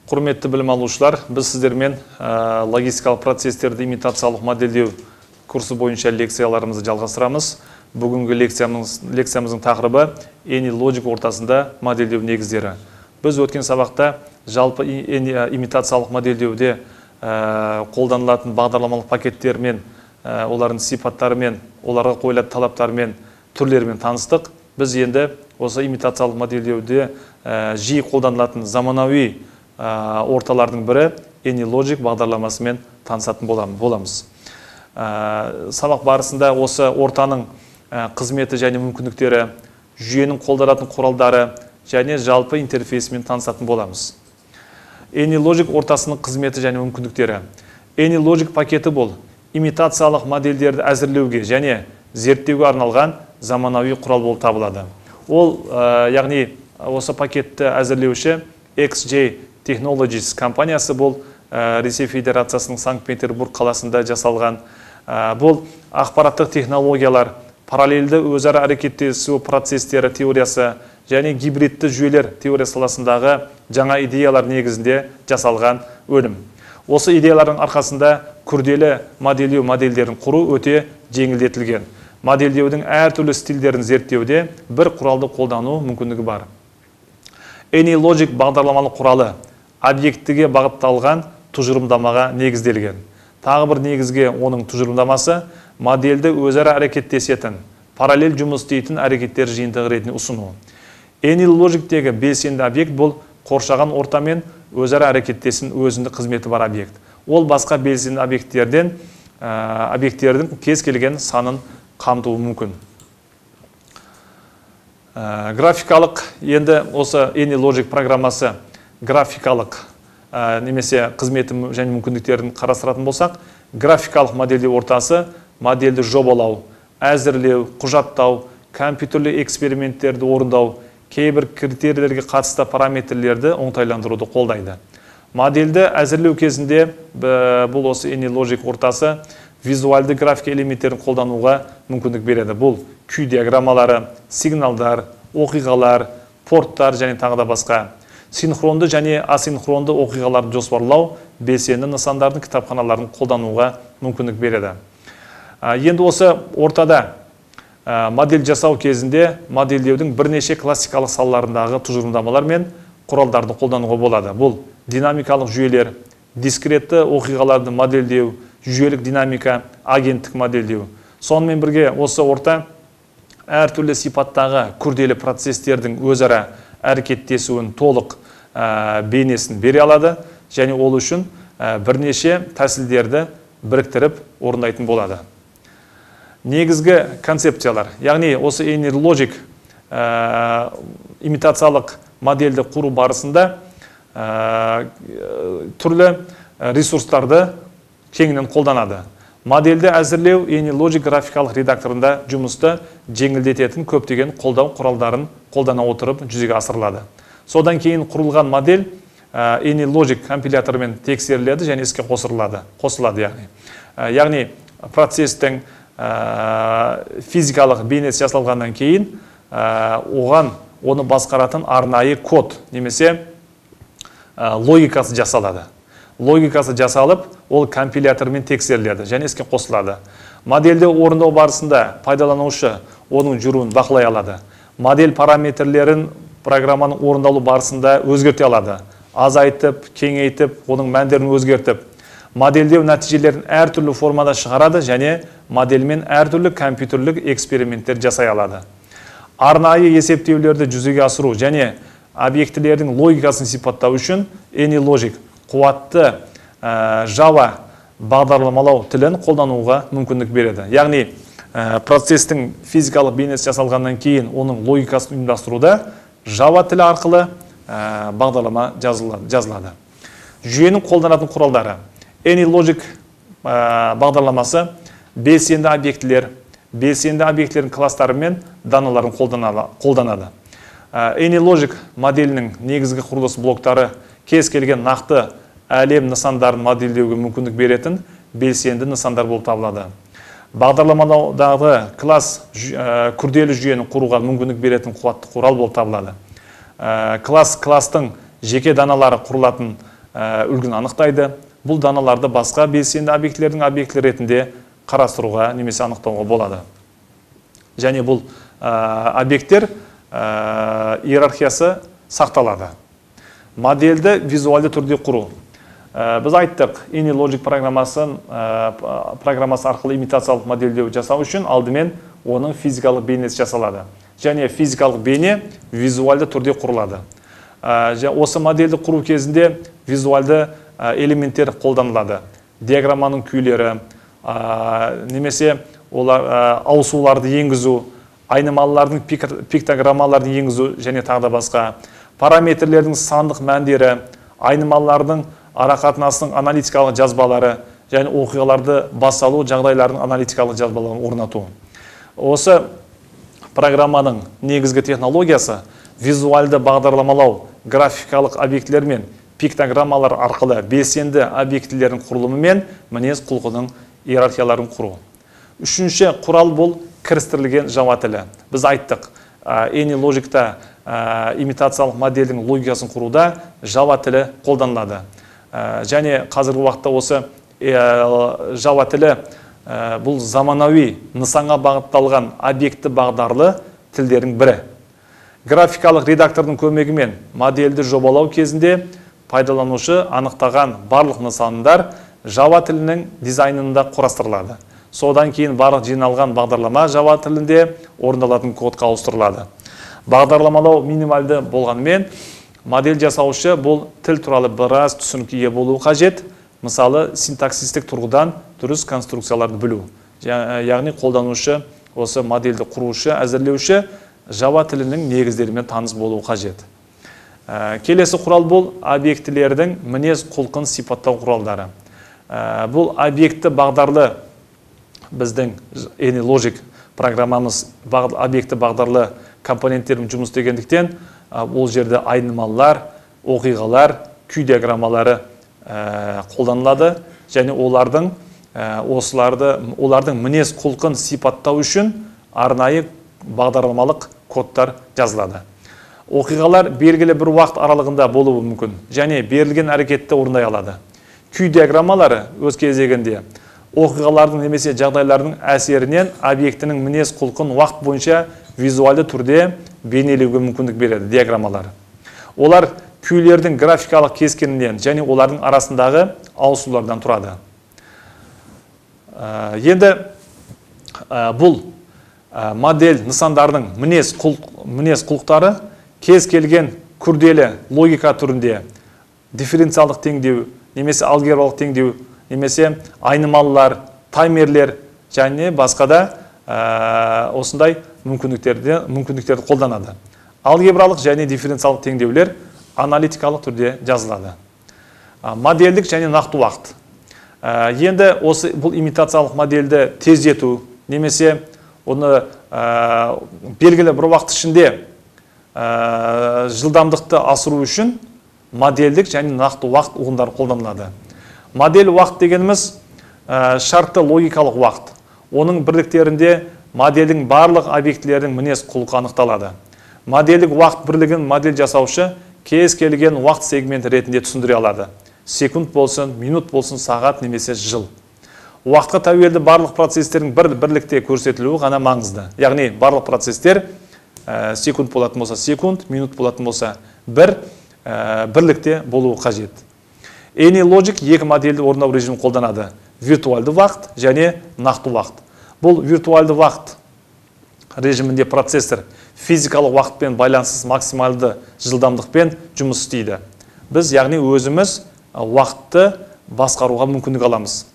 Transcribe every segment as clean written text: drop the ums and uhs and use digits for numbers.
Құрметті білім алушылар, біз сіздермен логистикалық процестерді имитациялық модельдеу курсы бойынша лекцияларымызды жалғастырамыз. Бүгінгі лекциямыздың тақырыбы AnyLogic ортасында модельдеу негіздері. Біз өткен сабақта жалпы имитациялық модельдеуде қолданылатын бағдарламалық пакеттермен, олардың сипаттарымен, оларға қойылатын талаптарымен, түрлерімен таныстық. Біз енді осы имитациялық модельдеуде жиі қолданылатын заманауи орталардың бірі AnyLogic бағдарламасымен танысатын боламыз. Сабақ барысында осы ортаның қызметі және мүмкіндіктері, жүйенің қолданатын құралдары және жалпы интерфейсімен танысатын боламыз. AnyLogic ортасының қызметі және мүмкіндіктері. AnyLogic пакеті бұл имитациялық модельдерді әзірлеуге және зерттеуге арналған заманауи құрал болып табылады. Ол, яғни осы пакетті әзірлеуші XJ Technologies компаниясы, бұл Ресей Федерациясының Санкт-Петербург қаласында жасалған. Бұл ақпараттық технологиялар, параллельді өзара әрекеттесу процестері теориясы және гибридті жүйелер теориясы саласындағы жаңа идеялар негізінде жасалған өнім. Осы идеялардың арқасында күрделі модельдеу модельдерін құру өте жеңілдетілген. Модельдеудің әртүрлі стильдерін зерттеуде бір құралды қолдану мүмкіндігі бар. AnyLogic бағдарламалық құралы объектіге бағытталған тұжырымдамаға негізделген. Тағы бір негізге оның тұжырымдамасы модельді өзара әрекеттесетін, параллель жұмыс істейтін әрекеттер жиынтығы ретінде ұсыну. AnyLogicтегі белсенді объект бұл қоршаған ортамен өзара әрекеттесін өзіндік қызметі бар объект. Ол басқа белсенді объекттердің кез келген санын қамтуы мүмкін. Графикалық, енді осы AnyLogic программасы графикалық немесе қызметі және мүмкіндіктерін қарастыратын болсақ, графикалық модельдеу ортасы модельді жобалау, әзірлеу, құжаттау, компьютерлі эксперименттерді орындау, кейбір критерийлерге қатысты параметрлерді оңтайландыруды қолдайды. Модельді әзірлеу кезінде бұл осы AnyLogic ортасы визуалды графика элементтерін қолдануға мүмкіндік береді. Бұл күй диаграммалары, сигналдар, оқиғалар, порттар және тағы да басқа. Синхронды және асинхронды оқиғаларды жоспарлау, белсенді нысандардың кітапханаларын қолдануға мүмкіндік береді. Енді осы ортада модель жасау кезінде модельдеудің бірнеше классикалық салаларындағы тұжырымдамалар мен құралдарды қолдануға болады. Бұл динамикалық жүйелер, дискретті оқиғаларды модельдеу, жүйелік динамика, агенттік модельдеу. Сонымен бірге осы орта әртүрлі сипаттағы күрделі процестердің өзара әрекеттесуін толық бейнесін бере алады және ол үшін бірнеше тәсілдерді біріктіріп орындайтын болады. Негізгі концепциялар, яғни осы AnyLogic имитациялық модельді құру барысында түрлі ресурстарды кеңінен қолданады. Модельді әзірлеу AnyLogic графикалық редакторында жұмысты жеңілдететін көптеген қолдау құралдарын қолдана отырып жүзеге асырылады. Содан кейін құрылған модель AnyLogic компиляторымен тексеріледі және іске қосылады. Яғни процестің физикалық бейнесі жасалғаннан кейін оны басқаратын арнайы код немесе логикасы жасалады. Логикасы жасалып, ол компилятормен тексеріледі және іске қосылады. Модельді орындау барысында пайдаланушы оның жүруін бақылай алады. Модель параметрлерін программаның орындалу барысында өзгерте алады. Азайтып, кеңейтіп, оның мәндерін өзгертіп, модельдеу нәтижелерін әртүрлі формада шығарады және модельмен әртүрлі компьютерлік эксперименттер жасай алады. Арнайы есептеулерді жүзеге асыру және объектілердің логикасын сипаттау үшін AnyLogic қуатты Java бағдарламалау тілін қолдануға мүмкіндік береді. Яғни процестің физикалық бейнесі жасалғаннан кейін оның логикасын ұйымдастыруда Java тілі арқылы бағдарлама жазылады. Жүйенің қолданатын құралдары. AnyLogic бағдарламасы белсенді объектілердің кластары мен даналарын қолданады. AnyLogic моделінің негізгі құрылыс блоктары кез келген нақты әлем нысандарын модельдеуге мүмкіндік беретін белсенді нысандар болып табылады. Бағдарламадағы класс күрделі жүйені құруға мүмкіндік беретін қуатты құрал болып табылады. Класстың жеке даналары құрылатын үлгін анықтайды. Бұл даналарды басқа белсенді объектілердің объектілер ретінде қарастыруға немесе анықтауға болады. Және бұл объекттер иерархиясы сақталады. Модельді визуалды түрде құру. Біз айттық, AnyLogic программасы арқылы имитациялық модельдеу жасау үшін алдымен оның физикалық бейнесі жасалады. Және физикалық бейне визуалды түрде құрылады. Осы модельді құру кезінде визуалды элементтер қолданылады. Диаграмманың күйлері, немесе ауысуларды енгізу, айнымалылардың пиктограммаларын енгізу және тағы басқа. Параметрлердің сандық мәндері, айнымалылардың арақатынасының аналитикалық жазбалары және оқиғаларды басалу жағдайлардың аналитикалық жазбаларын орнату. Осы программаның негізгі технологиясы визуалды бағдарламалау, графикалық объектілер мен пиктограммалар арқылы белсенді объектілердің құрылымы мен мінез құлқының иерархияларын құру. Үшінші құрал бұл кірістірілген Java тілі. Біз айттық, AnyLogic'та имитациялық модельдің логикасын құруда Java тілі қолданылады. Және қазіргі уақытта осы Java тілі бұл заманауи нысанға бағытталған объекті бағдарлы тілдердің бірі. Графикалық редактордың көмегімен модельді жобалау кезінде пайдаланушы анықтаған барлық нысандар Java тілінің дизайнында құрастырылады. Содан кейін барлық жиналған бағдарлама Java тілінде орындалатын кодқа ауыстырылады. Бағдарламалау минималды болғанымен, модель жасаушы бұл тіл туралы біраз түсінікке болуы қажет. Мысалы, синтаксистік тұрғыдан дұрыс конструкцияларды білу. Яғни қолданушы, осы модельді құрушы, әзірлеуші Java тілінің негіздерімен таныс болуы қажет. Келесі құрал бұл объектілердің мінез құлқын сипаттау құралдары. Бұл объекті бағдарлы біздің AnyLogic программамыз объекті бағдарлы компоненттерін жұмыс істегендіктен ол жерде айнымалылар, оқиғалар, күй диаграммалары қолданылады және олардың мінез құлқын сипаттау үшін арнайы бағдарламалық кодтар жазылады. Оқиғалар белгілі бір уақыт аралығында болуы мүмкін және берілген әрекетті орындай алады. Күй диаграммалары өз кезегінде оқиғалардың немесе жағдайлардың әсерінен объектінің мінез құлқын уақыт бойынша визуалды түрде бейнелеуге мүмкіндік береді диаграммалар. Олар күйлердің графикалық кескінінен және олардың арасындағы ауысулардан тұрады. Енді бұл модель нысандардың мінез құлықтары кез келген күрделі логика түрінде дифференциалдық теңдеу, немесе алгебралық теңдеу, немесе айнымалылар, таймерлер және басқа да осындай мүмкіндіктерді қолданады. Алгебралық және дифференциалдық теңдеулер аналитикалық түрде жазылады. Модельдік және нақты уақыт. Енді бұл имитациялық модельді тездету, немесе оны белгілі бір уақыт ішінде жылдамдықты асыру үшін модельдік және нақты уақыт ұғымдары қолданылады. Модель уақыт дегеніміз шартты логикалық уақыт. Оның бірліктерінде модельдің барлық объектілердің мінез құлқы анықталады. Модельдік уақыт бірлігін модель жасаушы кез келген уақыт сегменті ретінде түсіндіре алады. Секунд болсын, минут болсын, сағат немесе жыл. Уақытқа тәуелді барлық процестердің бірлікте көрсетілуі ғана маңызды. Яғни барлық процестер секунд болатын болса секунд, минут болатын болса бірлікте болуы қажет. AnyLogic екі модельді орындау режимін қолданады. Виртуалды уақыт және нақты уақыт. Бұл виртуалды уақыт режимінде процессор физикалық уақытпен байланыссыз максималды жылдамдықпен жұмыс істейді. Біз яғни өзіміз уақытты басқаруға мүмкіндік аламыз.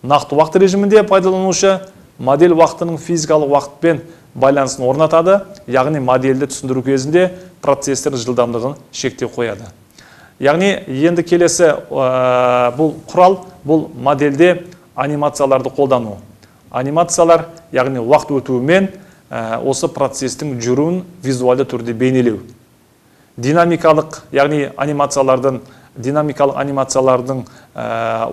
Нақты уақыт режимінде пайдаланушы модель уақытының физикалық уақытпен байланысын орнатады, яғни модельді түсіндіру кезінде процессор жылдамдығын шектеу қояды. Яғни енді келесі бұл құрал, бұл модельде анимацияларды қолдану. Анимациялар, яғни уақыт өтуімен осы процестің жүруін визуалды түрде бейнелеу. Динамикалық, яғни динамикалық анимациялардың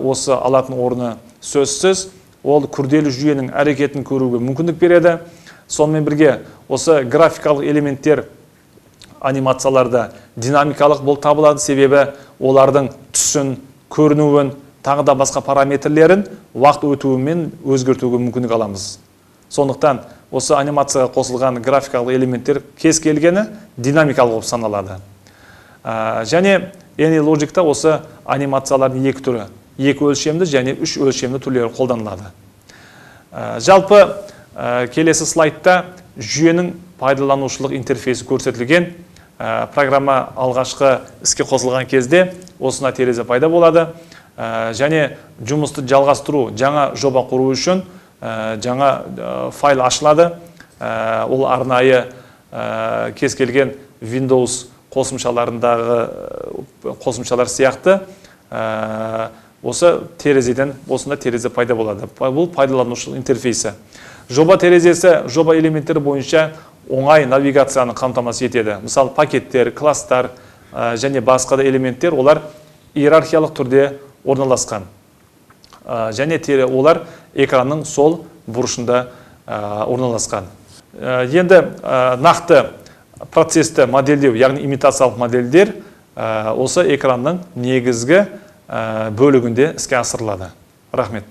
осы алатын орны сөзсіз, ол күрделі жүйенің әрекетін көруге мүмкіндік береді. Сонымен бірге осы графикалық элементтер анимацияларда динамикалық болып табылады, себебі олардың түсін, көрінуін, тағы да басқа параметрлерін уақыт өтуімен өзгертуге мүмкіндік аламыз. Сондықтан осы анимацияға қосылған графикалық элементтер кез келгені динамикалық болып саналады. Және AnyLogic'та осы анимациялардың екі түрі, 2 өлшемді және 3 өлшемді түрлері қолданылады. Жалпы келесі слайдта жүйенің пайдаланушылық интерфейсі көрсетілген. Программа алғашқы іске қосылған кезде осына терезе пайда болады. Және жұмысты жалғастыру, жаңа жоба құру үшін жаңа файл ашылады. Ол арнайы кез келген Windows қосымшаларындағы қосымшалар сияқты осы терезеден осында терезе пайда болады. Бұл пайдаланушылық интерфейсі. Жоба терезесі жоба элементтері бойынша оңай навигацияны қамтамасыз етеді. Мысалы, пакеттер, класстар және басқа да элементтер олар иерархиялық түрде орналасқан. Және олар экранның сол бұрышында орналасқан. Енді нақты процесті модельдеу, яғни имитациялық модельдер осы экранның негізгі бөлігінде іске асырылады. Рахмет.